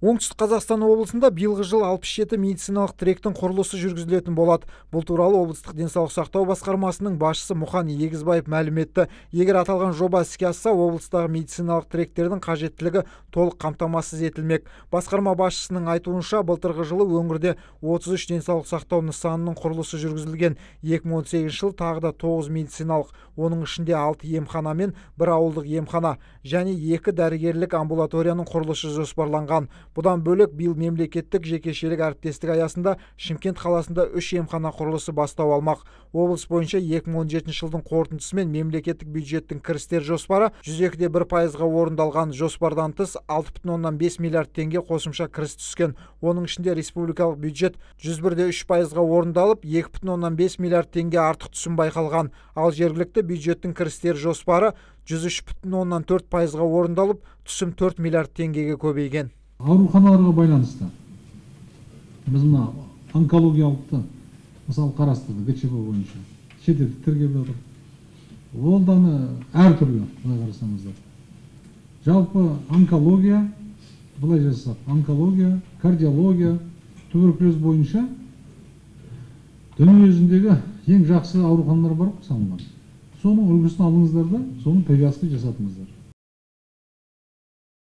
Оңтүстік Қазақстан облысында биылғы жыл 67 медициналық тіректің құрылысы жүргізілетін болады. Бұл туралы облыстық денсаулық сақтау басқармасының басшысы Мұхан Егізбаев мәлім етті. Егер аталған жоба іске асса, облыстағы медициналық тіректердің қажеттілігі толық қамтамасыз етілмек. Басқарма басшысының айтуынша, былтырғы жылы өңірде 33 денсаулық сақтау нысанының құрылысы жүргізілген. 2018 жыл тағы да 9 медициналық, оның ішінде 6 емхана мен 1 ауылдық емхана және 2 дәрігерлік амбулаторияның құрылысы жоспарланған. Бұдан бөлек биыл мемлекеттік жекешелік әріптестік аясында Шымкент қаласында 3 емхана құрылысы бастау алмақ. Облыс бойынша 2017 жылдың қорытындысымен мемлекеттік бюджеттің кірістер жоспары 102,1%-ға орындалған. Жоспардан тыс 6,5 миллиард теңге қосымша кіріс түскен. Оның ішінде республикалық бюджет 101,3%-ға орындалып, 2,5 миллиард теңге артық түсім байқалған. Ал жергілікті бюджеттің кірістер жоспары 103,4%-ға орындалып, түсім 4 миллиард теңгеге көбейген. Ауруханаларға байланысты біз мына онкологиялықты мысалы қарастырдық ГЧБ бойынша. Шетелдік тіркеп жатыр. Ол даны әртүрлі, былай қарасаңыздар. Жалпы онкология, былай жасақ, онкология, кардиология, туберкулез бойынша дүние жүзіндегі ең жақсы ауруханалар бар салынған. Соның үлгісін алыңыздар да, соның привязка жасатыңыздар.